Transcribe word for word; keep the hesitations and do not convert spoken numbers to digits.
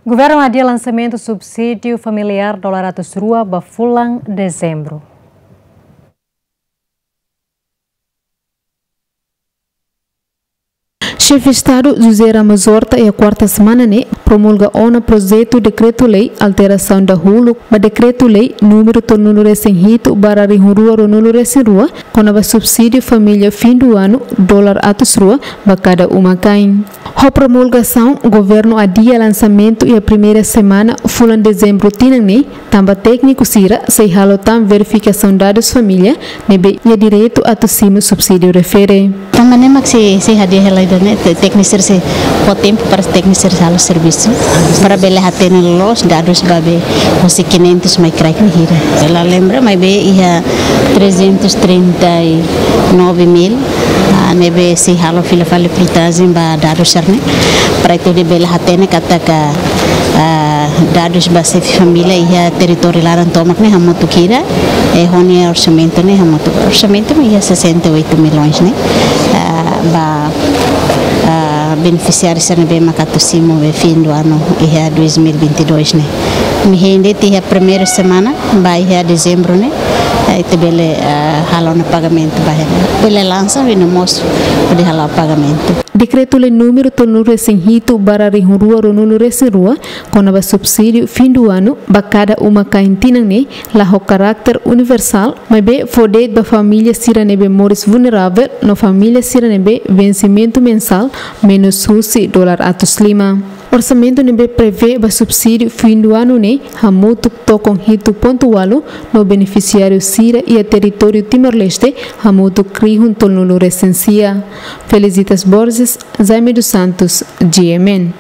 Governu adia lansamentu subsídiu familiár dolar atus rua ba fulan Dezembru. Xefe Estadu José Ramos Horta iha kuarta semana ne'e promulga ona projetu dekretu-lei alterasaun dahuluk ba dekretu-lei númeru tolunulu-resin-hitu barra rihun rua ruanulu-resin-rua, kona-ba subsídiu família fin du anu dolar atus rua ba kada uma-kain. Ho promulgasaun, governu adia lansamentu iha primeira semana fulan Dezembru tinan ne'e, tanba tékniku sira sei halo tan verifikasaun dadus família ne'ebé iha direitu atu simu subsídiu refere. Tanba ne'e mak sei, sei hadi'a hela ida-ne'e, te-, tékniku sira sei fó tempu para tékniku sira halo servisu, para bele hatene loos dadus ba be husi quinhentos mai kraik ne'e hira. Ha'u la lembra, maibé iha trezentos e trinta e nove mil, ah, ne'ebé sei halo fila fali printajen ba dadus sira-ne'e. Para ita bele hatene katak, ah, dadus ba xefe família iha territóriu laran tomak ne'e hamutuk hira, eh, ho nia orsamentu ne'e hamutuk. Orsamentu ne'e iha sessenta e oito milhões ne'e. Ah, ba, ah, benefisiáriu sira ne'ebé maka atu simu be fin du anu iha dois mil e vinte e dois ne'e. Imi hein de'it iha primeira semana ba iha Dezembru ne'e, eh, ita bele, eh, halo ona pagamentu ba hela. Bele lansa, bele mós hodi halo pagamentu. Dekretu-lei númeru tolunulu-resin-hitu barra rihun rua ruanulu-resin-rua, kona-ba subsídiu fin du anu ba kada uma-kain tinan ne'e, la ho karáter universál, maibé fó de'it ba família sira ne'ebé moris vulneravel no família sira ne'ebé vensimentu mensál menus husi dolar atus lima. Orsamentu ne'ebé prevee ba subsídiu fin du anu ne'e hamutuk tokon hitu pontu ualu no benefisiáriu sira iha territóriu Timor-Leste hamutuk rihun tolunulu-resin-sia. Felicitas Borges, Jaime dos Santos, G M N.